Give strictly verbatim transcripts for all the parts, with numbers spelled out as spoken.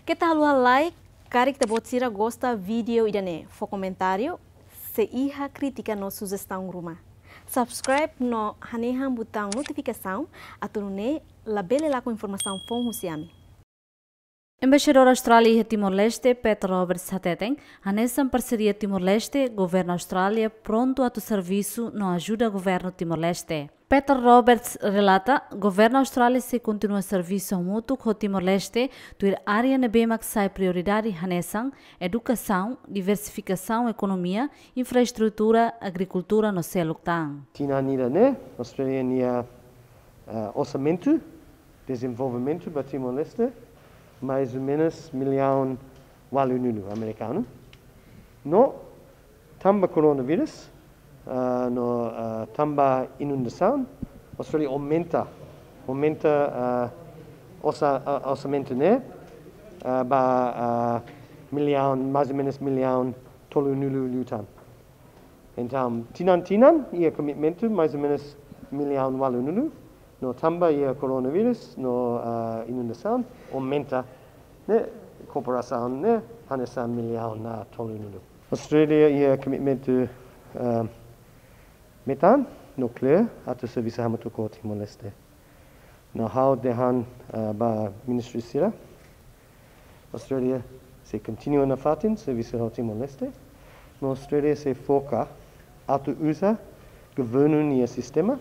Keta haluha like, karik ita-boot sira gosta vídeo ida-ne'e, fó komentáriu, se iha krítika no sujestaun ruma. Subscribe no hanehan butaun notifikasaun, atu nune'e labele lakon informasaun foun husi ami. Embaixadór Austrália iha Timor-Leste, Pat Roberts hateten, hanesan parseria Timor-Leste, governu Austrália prontu atu servisu no ajuda governu Timor-Leste. Pat Roberts relata, governu Austrália sei kontinua servisu hamutuk ho Timor-Leste, tuir área ne'ebé mak sai prioridade hanesan edukasaun, diversifikasaun ekonomia, infraestrutura, agrikultura no seluk tan. Tinan ida-ne'e, Austrália nia, eh, orsamentu dezenvolvimentu ba Timor-Leste, mais ou menus millaun ualunulu amerikanu. No tanba koronavírus, ah, no, ah, tanba inundasaun, Austrália aumenta, aumenta, ah, orsa-, ah, orsamentu ne'e, ah, ba, ah, millaun, mais ou menus millaun tolunulu liután. Entaun, tinan-tinan, iha komitmentu, mais ou menus millaun ualunulu, no tanba iha koronavírus, no, ah, inundasaun, aumenta, ne'e, kooperasaun ne'e, hanesan millaun tolunulu. Austrália iha komitmentu, ah, metan, no klaru, atu servisu hamutuk ho Timor-Leste. No ha'u dehan, ah, ba ministru sira, Austrália sei kontinua nafatin servisu ho Timor-Leste. No Austrália sei foka atu uza governu nia sistema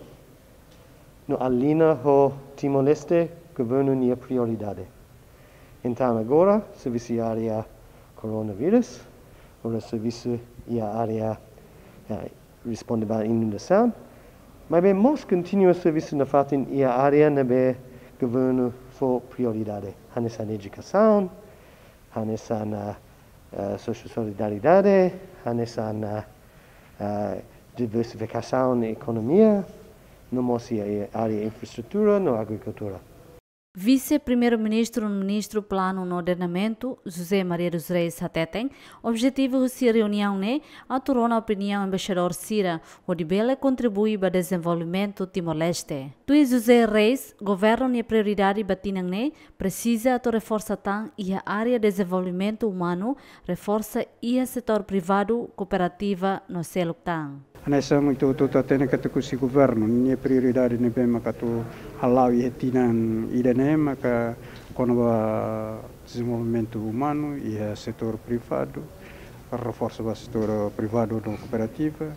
no alinha ho Timor-Leste governu nia prioridade. Entaun agora, servisu iha área koronavírus, agora servisu iha área, eh, responde ba inundasaun, maibé mós kontinua servisu nafatin iha área ne'ebé governu fó prioridade. Hanesan edukasaun, hanesan, ah, ah, sosiu-solidariedade, hanesan, ah, ah, diversifikasaun ekonomia, no mós iha, iha área infraestrutura no agrikultura. Vise-Primeiru-Ministru, Ministru Planu no Ordenamentu, José Maria dos Reis hateten, objetivu husi reuniaun ne'e atu rona opiniaun embaixadór sira, hodi bele kontribui ba dezenvolvimentu Timor-Leste. Tuir José Reis, governu nia prioridade ba tinan ne'e presiza atu reforsa tan iha área dezenvolvimentu umanu, reforsa iha setór privadu, kooperativa no seluk tan. Hanesan ohin ita hotu hatene katak husi governu nia prioridade ne'ebé maka atu hala'o iha tinan ida-ne'e maka kona-ba dezenvolvimentu umanu iha setór privadu, reforsa ba setór privadu no kooperativa,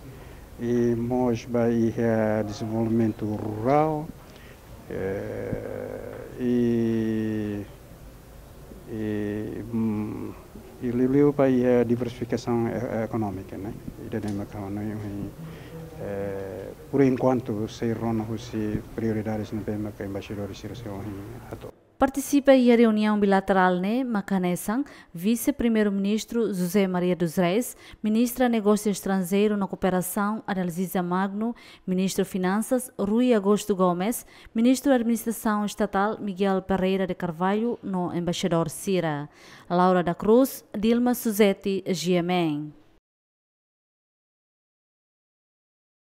i mós ba iha dezenvolvimentu rurál, eh, i, i, mm, i liuliu ba iha diversifikasaun e-, ekonómika, ne'e. Ida-ne'e maka ha'u hanoin, eh, por enkuantu sei rona husi prioridades ne'ebé maka embaixadór sira sei ohin hato'o. Partisipa iha reuniaun bilaterál ne'e maka hanesan Vise-Primeiru-Ministru José Maria dos Reis, Ministra Negósiu Estranjeiru no Kooperasaun Adalziza Magno, Ministru Finansas Rui Augusto Gomes, Ministru Administrasaun Estatál Miguel Pereira de Carvalho no embaixadór sira. Laura da Cruz, Dilma Suzeti, G M N.